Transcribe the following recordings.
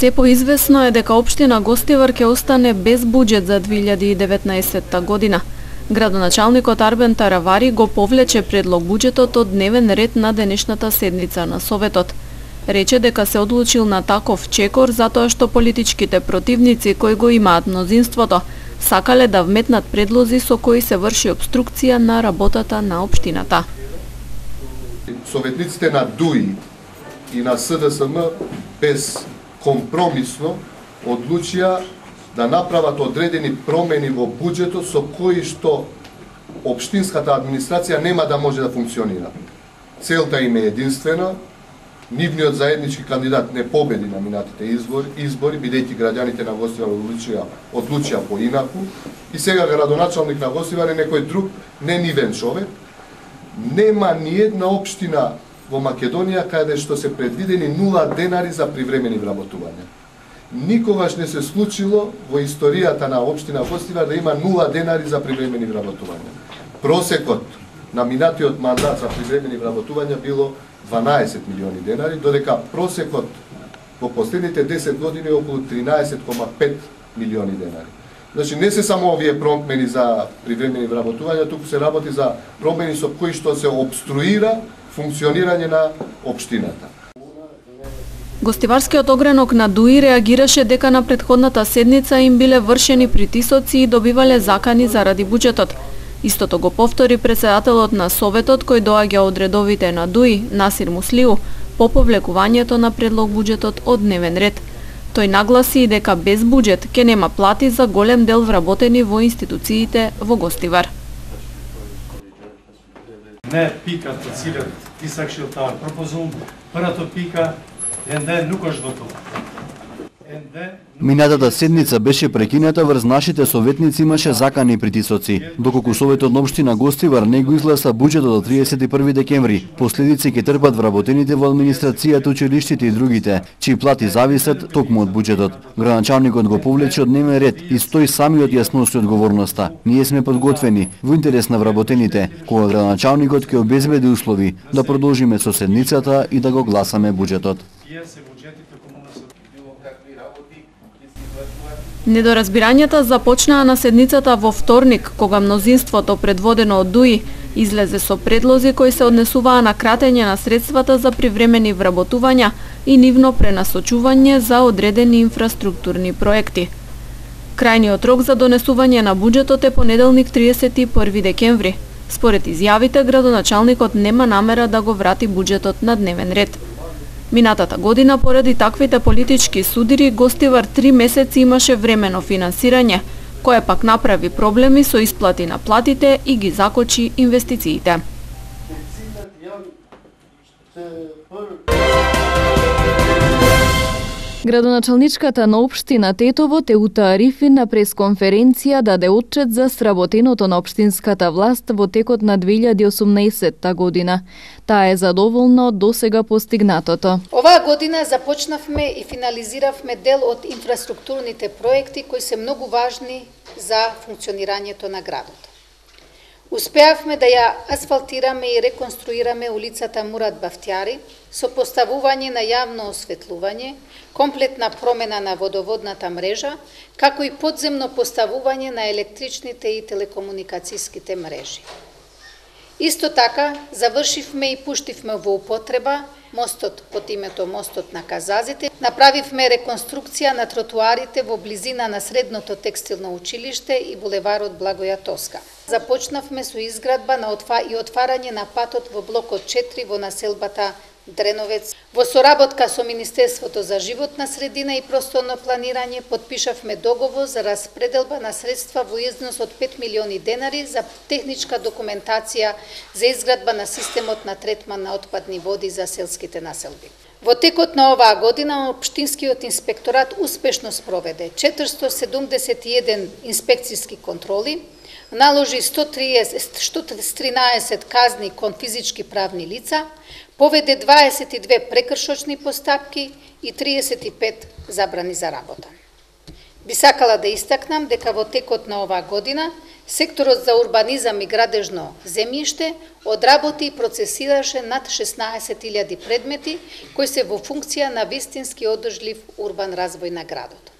Се поизвестно е дека општина Гостивар ќе остане без буџет за 2019 година. Градоначалникот Арбен Таравари го повлече предлог буџетот од дневен ред на денешната седница на Советот. Рече дека се одлучил на таков чекор затоа што политичките противници кои го имаат мнозинството сакале да вметнат предлози со кои се врши обструкција на работата на општината. Советниците на ДУИ и на СДСМ безкомпромисно одлучија да направат одредени промени во буџетот со кои што општинската администрација нема да може да функционира. Целта им е единствена. Нивниот заеднички кандидат не победи на минатите избори, бидејќи граѓаните на Гостивар одлучија поинаку, и сега градоначалник на Гостивар е некој друг, не нивен човек. Нема ни една општина во Македонија каде што се предвидени 0 денари за привремени вработувања. Никогаш не се случило во историјата на општина Гостивар да има 0 денари за привремени вработувања. Просекот на минатиот мандат за привремени вработувања било 12 милиони денари, додека просекот во последните 10 години е околу 13,5 милиони денари. Значи не се само овие промени за привремени вработувања, туку се работи за промени со кои што се обструира функционирање на општината. Гостиварскиот огранок на ДУИ реагираше дека на претходната седница им биле вршени притисоци и добивале закани заради буџетот. Истото го повтори председателот на Советот кој доаѓа од редовите на ДУИ, Насир Муслиу, по повлекувањето на предлог буџетот од дневен ред. Тој нагласи и дека без буџет ќе нема плати за голем дел вработени во институциите во Гостивар. Не пика tot cilët disa këshilltarë propozum për ato pika ende nuk është votuar. Минатата седница беше прекината врз нашите советници имаше закани и притисоци, доколку Советот на општина Гостивар не го изгласа буџетот до 31 декември. Последици ќе трпат вработените во администрацијата, училиштите и другите, чии плати зависат токму од буџетот. Градоначалникот го повлече од дневен ред и стои самиот јасноси одговорноста. Ние сме подготвени во интерес на вработените, кога градоначалникот ќе обезбеди услови да продолжиме со седницата и да го гласаме буџетот. Недоразбирањата започнаа на седницата во вторник, кога мнозинството предводено од ДУИ излезе со предлози кои се однесуваа на кратење на средствата за привремени вработувања и нивно пренасочување за одредени инфраструктурни проекти. Крајниот рок за донесување на буџетот е понеделник 31 декември. Според изјавите, градоначалникот нема намера да го врати буџетот на дневен ред. Минатата година, поради таквите политички судири, Гостивар 3 месеци имаше времено финансирање, кое пак направи проблеми со исплати на платите и ги закочи инвестициите. Градоначалничката на општина Тетово Теута Арифин на пресконференција даде отчет за сработеното на општинската власт во текот на 2018 година. Таа е задоволна од досега постигнатото. Оваа година започнавме и финализиравме дел од инфраструктурните проекти кои се многу важни за функционирањето на градот. Успеавме да ја асфалтираме и реконструираме улицата Мурат Бафтјари со поставување на јавно осветлување, комплетна промена на водоводната мрежа, како и подземно поставување на електричните и телекомуникацијските мрежи. Исто така, завршивме и пуштивме во употреба мостот под името Мостот на Казазите. Направивме реконструкција на тротуарите во близина на Средното текстилно училиште и булеварот Благоја Тоска. Започнавме со изградба и отварање на патот во блокот 4 во населбата Дреновец. Во соработка со Министерството за животна средина и просторно планирање подпишавме договор за распределба на средства во износ од 5 милиони денари за техничка документација за изградба на системот на третман на отпадни води за селските населби. Во текот на оваа година општинскиот инспекторат успешно спроведе 471 инспекцијски контроли, наложи 113 казни кон физички правни лица, поведе 22 прекршочни постапки и 35 забрани за работа. Би сакала да истакнам дека во текот на оваа година секторот за урбанизам и градежно земјиште одработи и процесираше над 16.000 предмети кои се во функција на вистински одржлив урбан развој на градот.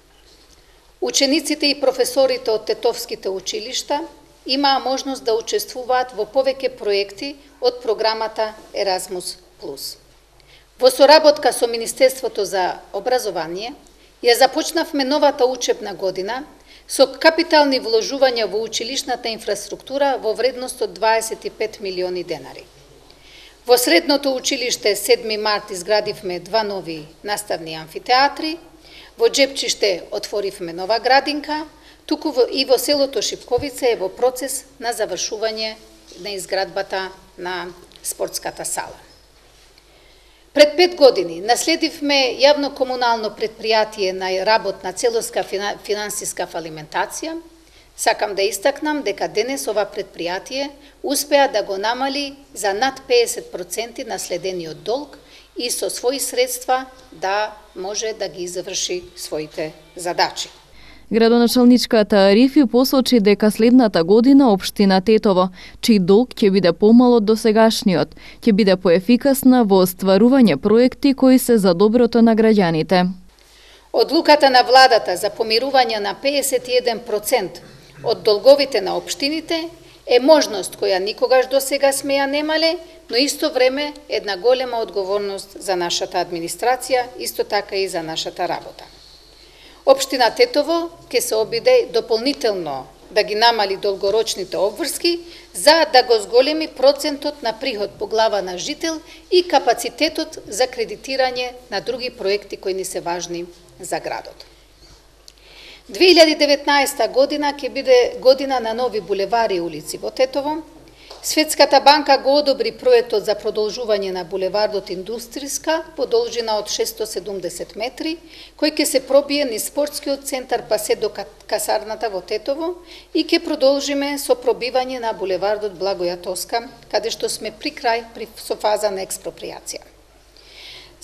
Учениците и професорите од тетовските училишта имаа можност да учествуваат во повеќе проекти од програмата Еразмус Плюс. Во соработка со Министерството за образование, ја започнавме новата учебна година со капитални вложувања во училишната инфраструктура во вредност од 25 милиони денари. Во средното училиште 7 март изградивме 2 нови наставни амфитеатри, во Джепчиште отворивме нова градинка, туку и во селото Шипковица е во процес на завршување на изградбата на спортската сала. Пред 5 години наследивме јавно-комунално предпријатие на работ на целоска финансиска фалиментација. Сакам да истакнам дека денес ова предпријатие успеа да го намали за над 50% наследениот долг и со своји средства да може да ги заврши своите задачи. Градоначалничката Арифи посочи дека следната година општина Тетово, чиј долг ќе биде помал од досегашниот, ќе биде поефикасна во остварување проекти кои се за доброто на граѓаните. Одлуката на владата за помирување на 51% од долговите на општините е можност која никогаш досега сме ја немале, но исто време една голема одговорност за нашата администрација, исто така и за нашата работа. Општина Тетово ќе се обиде дополнително да ги намали долгорочните обврски за да го зголеми процентот на приход по глава на жител и капацитетот за кредитирање на други проекти кои ни се важни за градот. 2019 година ќе биде година на нови булевари и улици во Тетово. Светската банка го одобри проектот за продолжување на булевардот Индустријска по должина од 670 метри, кој ќе се пробие низ спортскиот центар па се до касарната во Тетово и ќе продолжиме со пробивање на булевардот Благоја Тоска, каде што сме при крај со фаза на експропријација.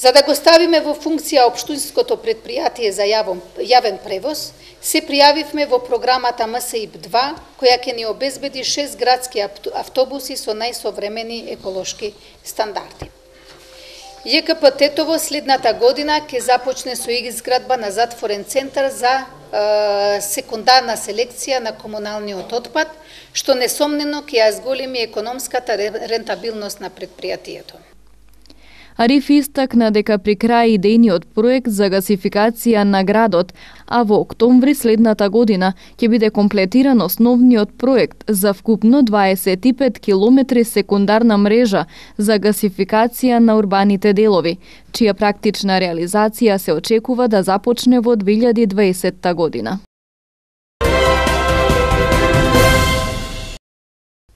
За да го ставиме во функција општинското предпријатие за јавен превоз, се пријавивме во програмата МСИП-2, која ќе ни обезбеди 6 градски автобуси со најсовремени еколошки стандарди. ЈКП Тетово следната година ќе започне со изградба на затворен центар за секундарна селекција на комуналниот отпад, што несомнено ќе ја зголеми економската рентабилност на предпријатието. Арифи истакна дека при крај идејниот проект за гасификација на градот, а во октомври следната година ќе биде комплетиран основниот проект за вкупно 25 километри секундарна мрежа за гасификација на урбаните делови, чија практична реализација се очекува да започне во 2020 година.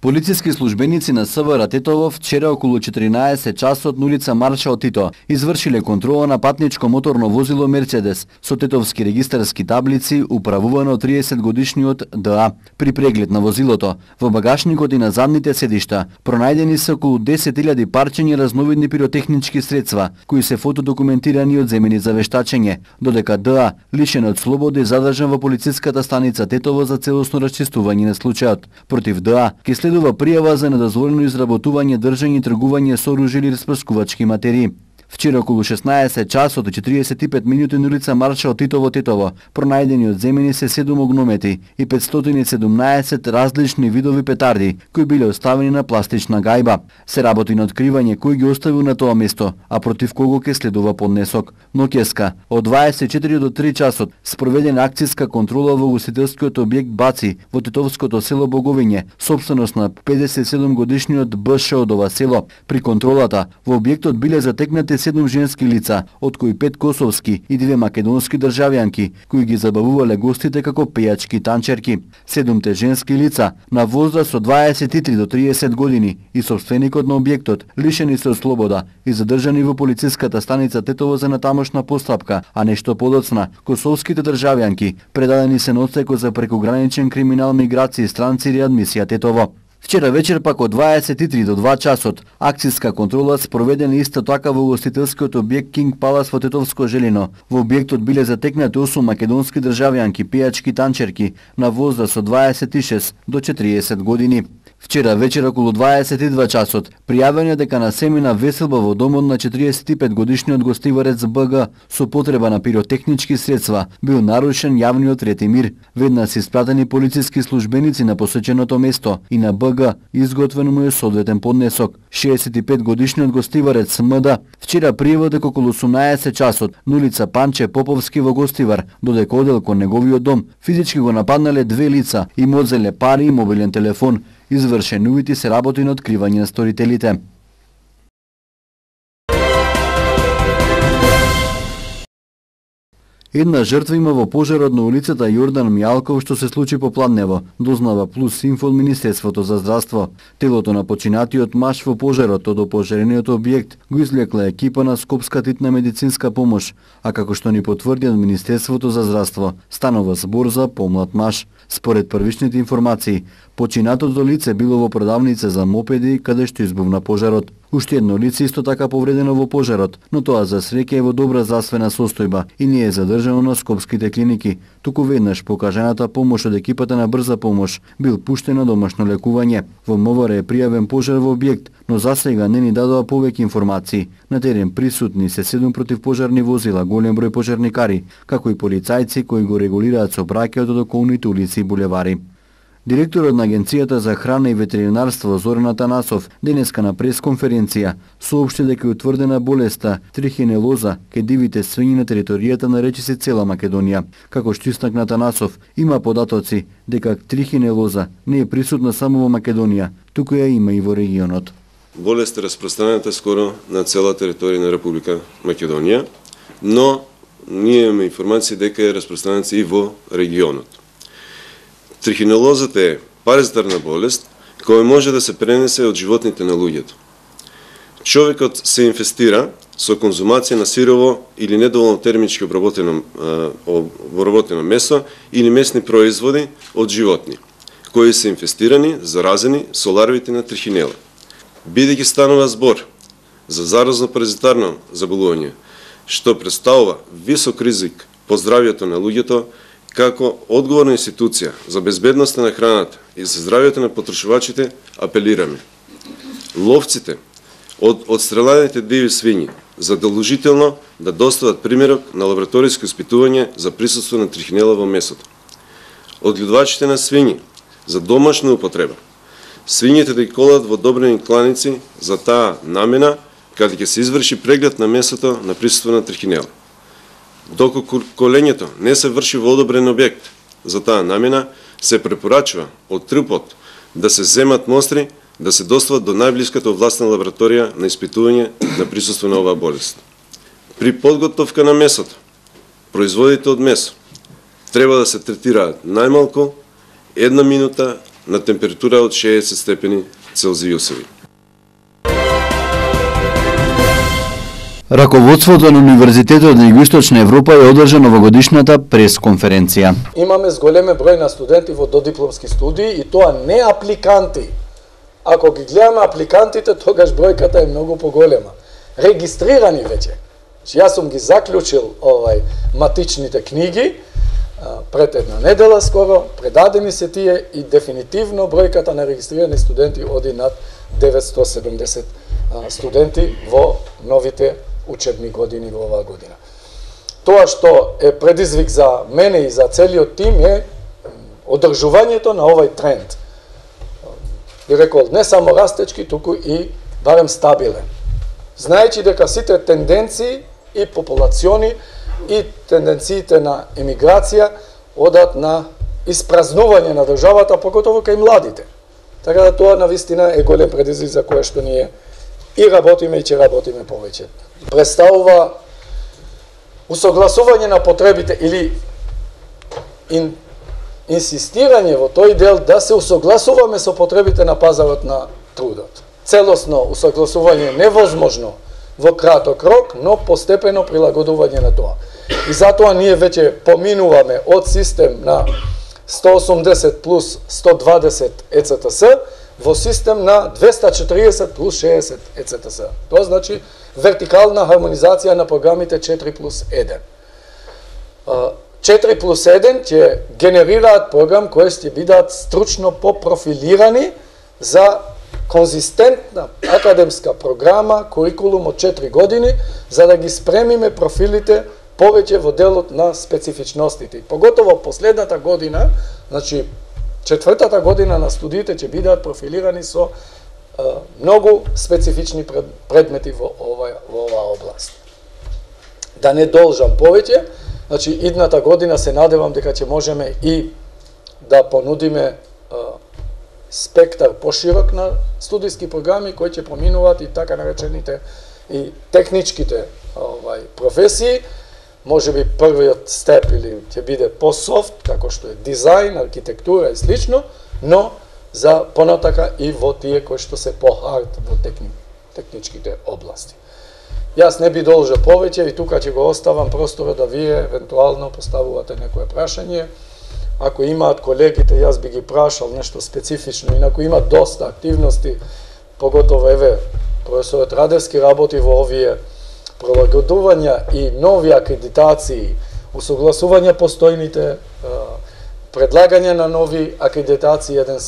Полициски службеници на СВР Тетово вчера околу 14 часот на улица Маршал Тито извршиле контрола на патничко моторно возило Мерцедес со тетовски регистарски таблици управувано 30 годишниот ДА. При преглед на возилото, во багажникот и на задните седишта, пронајдени се околу 10.000 парчења разновидни пиротехнички средства, кои се фотодокументирани и одземени за вештачење, додека ДА, лишен од слобода, е задржан во полициската станица Тетово за целосно расчистување на случајот. Против ДА ќе следува пријава за недозволено изработување, држање и тргување со оружје или распрскувачки материи. Вчера околу 16 часот и 45 минути на улица Маршал Тито во Тетово пронајдени одземени се 7 огномети и 517 различни видови петарди, кои биле оставени на пластична гајба. Се работи на откривање кој ги оставил на тоа место, а против кого ќе следува поднесок. Ноќеска, од 24 до 3 часот, спроведена акцијска контрола во ugostителскиот објект Баци во тетовското село Боговиње, собственост на 57 годишниот БШ од ова село. При контролата во објектот биле затекнати 7 женски лица, од кои 5 косовски и 2 македонски државјанки, кои ги забавувале гостите како пејачки танчерки. 7 женски лица на возраст од 23 до 30 години и собственикот на објектот лишени се од слобода и задржани во полициската станица Тетово за натамошна постапка, а нешто подоцна, косовските државјанки предадени се на одсекот за прекограничен криминал, миграција, странци и реадмисија Тетово. Вчера вечер пак од 23 до 2 часот акцијска контрола спроведена исто така во угостителскиот објект Кинг Палас во Тетовско Желино. Во објектот биле затекнати 8 македонски државјанки, пејачки танчерки на возраст од 26 до 40 години. Вчера вечер околу 22 часот пријавено дека на семина веселба во домот на 45 годишниот гостиварец БГ со потреба на пиротехнички средства бил нарушен јавниот ред и мир. Веднаш се испратени полициски службеници на посеченото место и на БГ изготвен му е соодветен поднесок. 65 годишниот гостиварец МД вчера пријавил дека околу 18 часот на улица Панче Поповски во Гостивар, додека одел кон неговиот дом, физички го нападнале две лица и му одзеле пари и мобилен телефон. Извршени увити се работи на откривање на сторителите. Една жртва има во пожарот на улицата Јордан Мијалков што се случи попладнево, дознава Плюс Инфо од Министерството за здравство. Телото на починатиот маж во пожарот од опожарениот објект го излекла екипа на Скопска титна медицинска помош, а како што ни потврди од Министерството за здравство, станува збор за помлад маж. Според првичните информации, починатото лице било во продавница за мопеди каде што избувна пожарот. Уште едно лице исто така повредено во пожарот, но тоа за среќа е во добра здравствена состојба и не е задржано на скопските клиники, туку веднаш покажаната помош од екипата на брза помош бил пуштен на домашно лекување. Во МВР е пријавен пожар во објект, но засега не ни дадоа повеќе информации. На терен присутни се 7 противпожарни возила, голем број пожарникари, како и полицајци кои го регулираат сообраќајот од околните улици и булевари. Директорот на Агенцијата за храна и ветеринарство Зоран Атанасов денеска на пресконференција соопшти дека е утврдена болеста трихинелоза кај дивите свињи на територијата на речиси цела Македонија. Како што истакна Атанасов, има податоци дека трихинелоза не е присутна само во Македонија, туку ја има и во регионот. Болест е распространета скоро на цела територија на Република Македонија, но ние имаме информација дека е распространета и во регионот. Трихинелозата е паразитарна болест која може да се пренесе од животните на луѓето. Човекот се инфестира со конзумација на сирово или недоволно термички обработено месо или месни производи од животни, кои се инфестирани, заразени со ларвите на трихинела. Бидејќи станува збор за заразно паразитарно заболување, што представува висок ризик по здравјето на луѓето, како одговорна институција за безбедноста на храната и за здравјето на потрошувачите, апелираме. Ловците од одстрелените диви свињи задолжително да достават примерок на лабораториско испитување за присуство на трихинела во месото. Одгледувачите на свињи за домашна употреба, свињите да ги колат во одобрени кланици за таа намена, каде ќе се изврши преглед на месото на присуство на трихинела. Доколку колењето не се врши во одобрен објект за таа намена, се препорачува од трупот да се земат мостри, да се достават до најблиската овластена лабораторија на испитување на присуство на оваа болест. При подготовка на месото, производите од месо треба да се третираат најмалку 1 минута на температура од 60 степени Целзиусови. Раководството на Универзитетот на Југоисточна Европа е одржано во годишната пресконференција. Имаме зголеме број на студенти во додипломски студии и тоа не апликанти. Ако ги гледаме апликантите, тогаш бројката е многу поголема. Регистрирани веќе. Јас сум ги заклучил матичните книги пред една недела скоро, предадени се тие и дефинитивно бројката на регистрирани студенти оди над 970 студенти во новите учебни години во оваа година. Тоа што е предизвик за мене и за целиот тим е одржувањето на овој тренд. Би рекол, не само растечки, туку и барем стабилен. Знаејќи дека сите тенденции и популациони и тенденциите на емиграција одат на испразнување на државата, покотово кај младите. Така да тоа навистина е голем предизвик за кое што ние и работиме и ќе работиме повеќе. Представува усогласување на потребите или инсистирање во тој дел да се усогласуваме со потребите на пазарот на трудот. Целосно усогласување е невозможно во краток рок, но постепено прилагодување на тоа. И затоа ние веќе поминуваме од систем на 180 плюс 120 ЕЦТС во систем на 240 плюс 60 ЕЦТС. Тоа значи вертикална хармонизација на програмите 4+1. 4+1 ќе генерираат програм кои ќе бидат стручно попрофилирани за конзистентна академска програма, курикулум од 4 години, за да ги спремиме профилите повеќе во делот на специфичностите. Поготово последната година, значи четвртата година на студиите ќе бидат профилирани со многу специфични предмети во оваа област. Да не должам повеќе, значи идната година се надевам дека ќе можеме и да понудиме спектар поширок на студиски програми кои ќе поминуваат и така наречените и техничките професии. Може би првиот степ или ќе биде по-софт, како што е дизајн, архитектура и слично, но за понатака и во тие кои што се по-хард во техничките области. Јас не би должел повеќе и тука ќе го оставам простора да вие евентуално поставувате некое прашање. Ако имаат колегите, јас би ги прашал нешто специфично, инаку има доста активности, поготово еве професорот Радевски работи во овие прилагодувања и нови акредитации, усогласување постојните, предлагање на нови акредитации, еден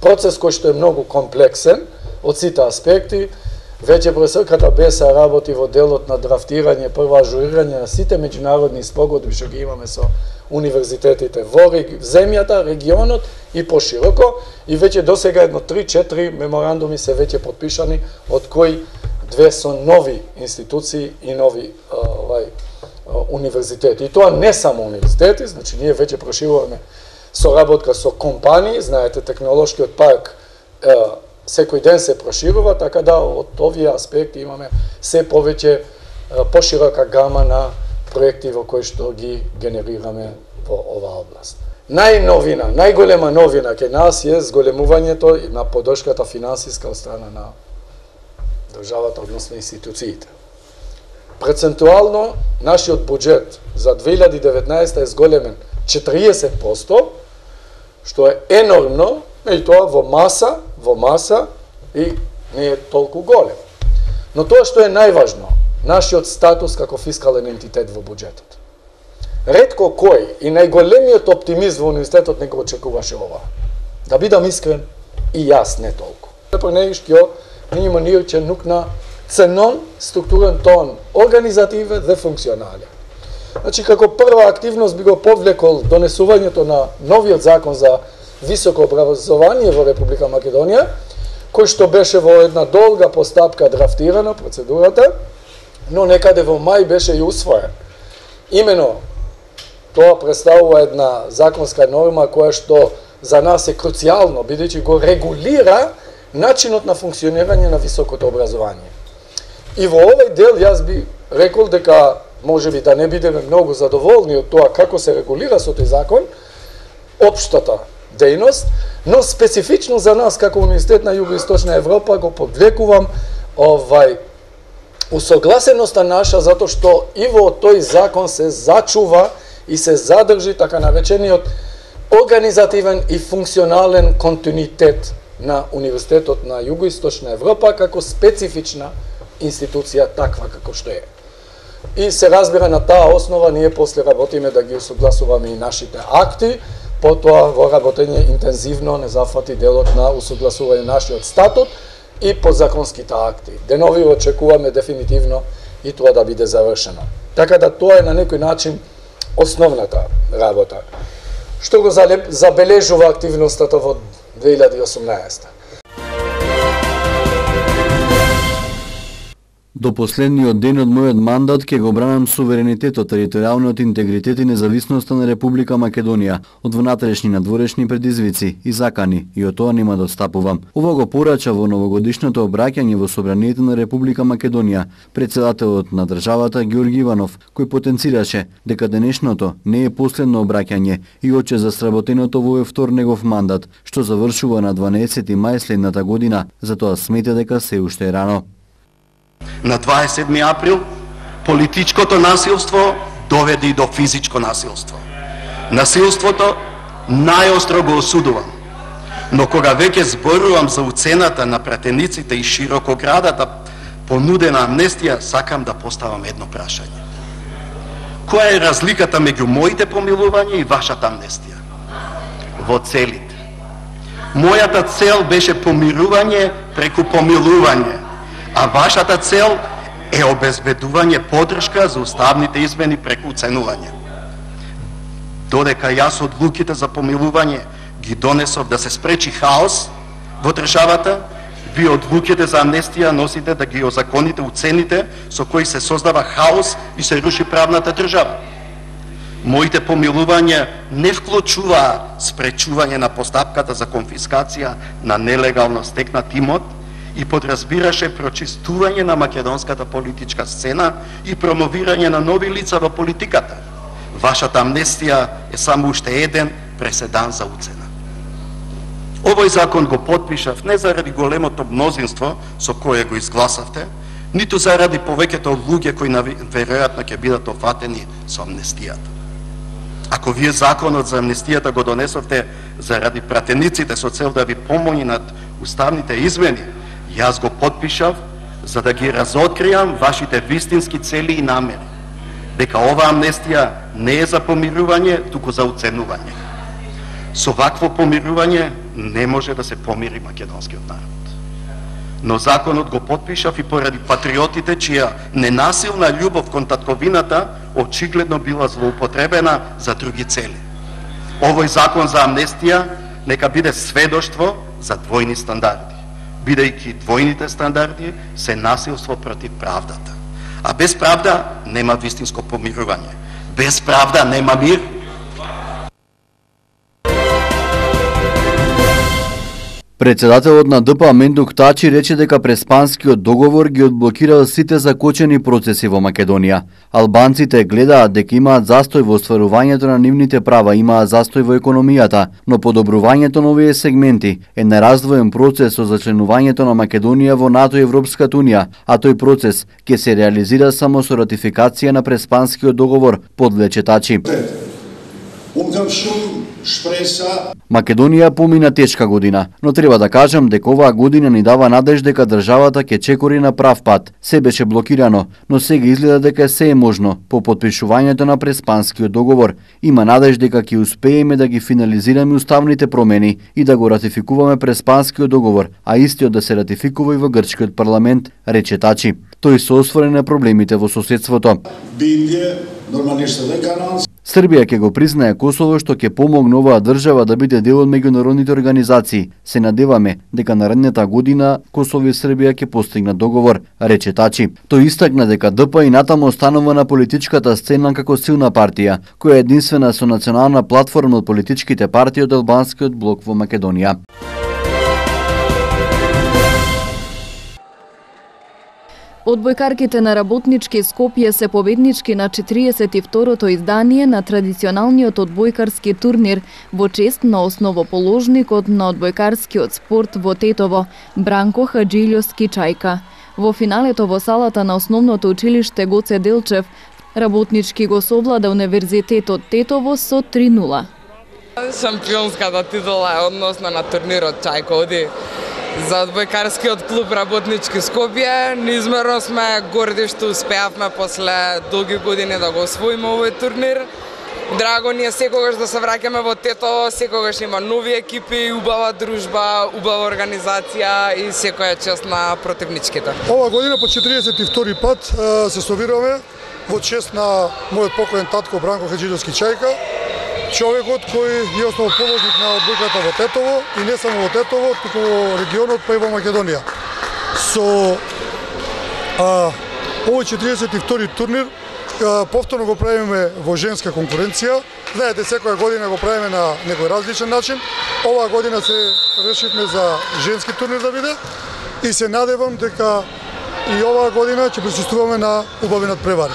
процес кој што е многу комплексен од сите аспекти. Веќе професорката Беса работи во делот на драфтирање, прво ажурирање на сите меѓународни спогодби што ги имаме со универзитетите во земјата, регионот и пошироко, и веќе досега едно 3-4 меморандуми се веќе подпишани, од кои 2 со нови институции и нови универзитети. И тоа не само универзитети, значи ние веќе прошируваме соработка со компании, знаете, технолошкиот парк секој ден се проширува, така да од овие аспекти имаме се повеќе поширока гама на проекти во кои што ги генерираме во оваа област. Најновина, најголема новина кај нас е зголемувањето на поддршката финансиска од страна на државата, односно институциите. Процентуално, нашиот буџет за 2019 е зголемен 40%, што е енормно, и тоа во маса и не е толку голем. Но тоа што е најважно, нашиот статус како фискален ентитет во буџетот. Ретко кој и најголемиот оптимист во универзитетот не го очекуваше ова. Да бидам искрен, и јас не толку. Пренејшкио минимумирче нукна ценон, структурен тон, организативен и функционален. Значи, како прва активност би го повлекол донесувањето на новиот закон за високо образование во Република Македонија, кој што беше во една долга постапка драфтирана процедурата, но некаде во мај беше и усвоен. Имено, тоа представува една законска норма која што за нас е круцијално, бидејќи го регулира начинот на функционирање на високото образование. И во овој дел јас би рекол дека може би да не бидеме многу задоволни од тоа како се регулира со тој закон, општата дејност, но специфично за нас како Универзитет на Југоисточна Европа го подвлекувам усогласеноста наша, затоа што и во тој закон се зачува и се задржи така наречениот организативен и функционален континуитет на Универзитетот на Југоисточна Европа како специфична институција таква како што е. И се разбира на таа основа ние после работиме да ги усогласуваме и нашите акти, потоа во работење интензивно не зафати делот на усогласување нашиот статут и подзаконските акти. Денови очекуваме дефинитивно и тоа да биде завршено. Така да тоа е на некој начин основната работа. Што го забележува активноста во 2018? До последниот ден од мојот мандат ќе го бранам суверенитетот, територијалниот интегритет и независноста на Република Македонија од внатрешни и надворешни предизвици и закани, и од тоа нема да отстапувам. Ова го порача во новогодишното обраќање во собранието на Република Македонија претседателот на државата Ѓорѓи Иванов, кој потенцираше дека денешното не е последно обраќање и оче за сработеното во втор негов мандат, што завршува на 12 мај следната година, затоа смета дека се уште е рано. На 27 април политичкото насилство доведе и до физичко насилство. Насилството најостро го осудувам. Но кога веќе зборувам за уцената на пратениците и широкоградата понудена амнестија, сакам да поставам едно прашање. Која е разликата меѓу моите помилувања и вашата амнестија? Во целите. Мојата цел беше помирување преку помилување, а вашата цел е обезбедување подршка за уставните измени преку уценување. Додека јас одлуките за помилување ги донесов да се спречи хаос во државата, вие одлуките за амнестија носите да ги озаконите уцените со кои се создава хаос и се руши правната држава. Моите помилувања не вклучуваа спречување на постапката за конфискација на нелегално стекнат имот и подразбираше прочистување на македонската политичка сцена и промовирање на нови лица во политиката. Вашата амнестија е само уште еден преседан за уцена. Овој закон го потпишав не заради големото мнозинство со кое го изгласавте, ниту заради повеќето луѓе кои веројатно ќе бидат офатени со амнестијата. Ако вие законот за амнестијата го донесовте заради пратениците со цел да ви помогне над уставните измени, јас го потпишав за да ги разоткријам вашите вистински цели и намери. Дека ова амнестија не е за помирување, туку за уценување. Со вакво помирување не може да се помири македонскиот народ. Но законот го потпишав и поради патриотите чија ненасилна љубов кон татковината очигледно била злоупотребена за други цели. Овој закон за амнестија нека биде сведоштво за двојни стандарди, бидејќи двојните стандарди се насилство против правдата. А без правда нема вистинско помирување. Без правда нема мир. Председателот на ДП Мендук Тачи рече дека Преспанскиот договор ги одблокирал сите закочени процеси во Македонија. Албанците гледаат дека имаат застој во остварувањето на нивните права, имаат застој во економијата, но подобрувањето на овие сегменти е нераздвоен процес со зачленувањето на Македонија во НАТО и Европската унија, а тој процес ќе се реализира само со ратификација на Преспанскиот договор, подлече Тачи. Македонија помина тешка година, но треба да кажам дека оваа година ни дава надеж дека државата ќе чекори на прав пат. Се беше блокирано, но сега изгледа дека се е можно по потпишувањето на Преспанскиот договор. Има надеж дека ќе успееме да ги финализираме уставните промени и да го ратификуваме Преспанскиот договор, а истиот да се ратификува и во грчкиот парламент, рече Тачи. Тој се осврне на проблемите во соседството. Србија ќе го признае Косово, што ќе помогне оваа држава да биде дел од меѓународните организации. Се надеваме дека наредната година Косово и Србија ќе постигнат договор, рече Тачи. Тој истакна дека ДП и натаму останува на политичката сцена како силна партија, која е единствена со национална платформа од политичките партии од албанскиот блок во Македонија. Одбојкарките на Работнички Скопје се победнички на 42-то издание на традиционалниот одбојкарски турнир во чест на основоположникот на одбојкарскиот спорт во Тетово, Бранко Хаджилјовски Чајка. Во финалето во салата на основното училиште Гоце Делчев, Работнички го совлада Универзитетот Тетово со 3:0. Шампионската титула е односно на турнирот Чајка за одбојкарскиот клуб Работнички Скопје. Неизмерно сме горди што успеавме после долги години да го освоиме овој турнир. Драго ни е секогаш да се враќаме во Тетово, секогаш има нови екипи, убава дружба, убава организација и секоја чест на противничките. Ова година по 42-ти пат се собираме во чест на мојот покоен татко Бранко Хаджилјовски Чајка, човекот кој е основоположник на одбојката во Тетово и не само во Тетово, туку во регионот, па и во Македонија. Со овој 42-ти турнир повторно го правиме во женска конкуренција. Знаете, секоја година го правиме на некој различен начин. Оваа година се решивме за женски турнир да биде и се надевам дека и оваа година ќе присуствуваме на убави надпревари.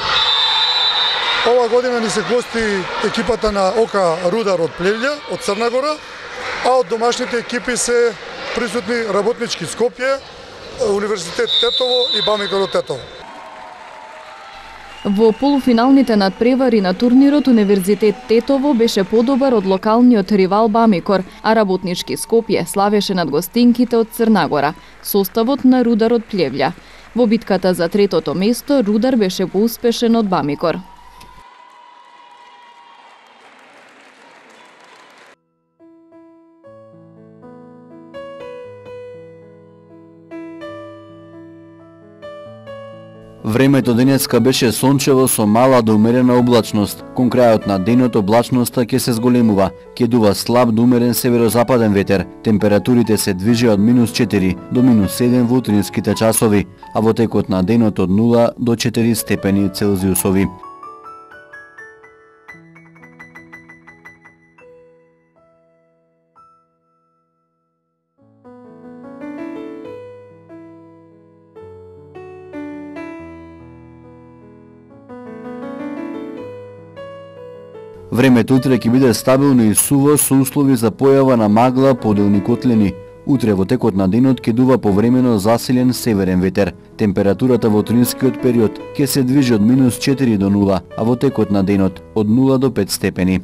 Оваа година ни се гости екипата на ОК Рудар од Плевља, од Црна Гора, а од домашните екипи се присутни Работнички Скопје, Универзитет Тетово и БАМИК од Тетово. Во полуфиналните надпревари на турнирот Универзитет Тетово беше подобар од локалниот ривал Бамикор, а Работнички Скопје славеше над гостинките од Црнагора, составот на Рудар од Плевља. Во битката за третото место Рудар беше поуспешен од Бамикор. Времето денеска беше сончево со мала до умерена облачност. Кон крајот на денот облачноста ќе се зголемува. Ќе дува слаб до умерен северозападен ветер. Температурите се движи од -4 до -7 во утринските часови, а во текот на денот од 0 до 4 степени Целзиусови. Времето утре ќе биде стабилно и суво со услови за појава на магла, поделни котлини. Утре во текот на денот ќе дува повремено засилен северен ветер. Температурата во утринскиот период ќе се движи од -4 до 0, а во текот на денот од 0 до 5 степени.